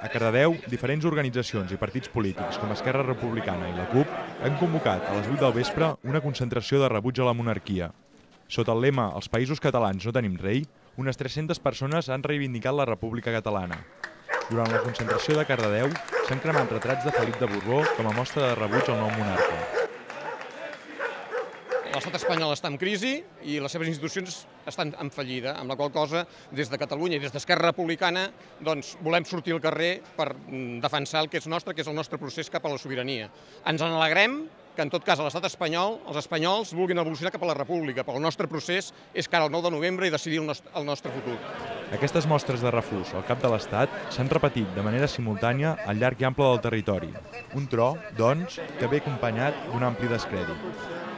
A Cardedeu, diferents organitzacions i partits polítics com Esquerra Republicana i la CUP han convocat a les 8 del vespre una concentració de rebuig a la monarquia. Sota el lema «Els països catalans no tenim rei», unes 300 persones han reivindicat la República Catalana. Durant la concentració de Cardedeu s'han cremat retrats de Felip de Borbó com a mostra de rebuig al nou monarca. L'estat espanyol està en crisi i les seves institucions estan en fallida, amb la qual cosa, des de Catalunya i des d'Esquerra Republicana, doncs, volem sortir al carrer per defensar el que és nostre, que és el nostre procés cap a la sobirania. Ens en alegrem que, en tot cas, a l'estat espanyol, els espanyols vulguin evolucionar cap a la república, però el nostre procés és cara al 9 de novembre i decidir el nostre futur. Aquestes mostres de refús al cap de l'Estat s'han repetit de manera simultània al llarg i ample del territori. Un tro, doncs, que ve acompanyat d'un ampli descrèdit.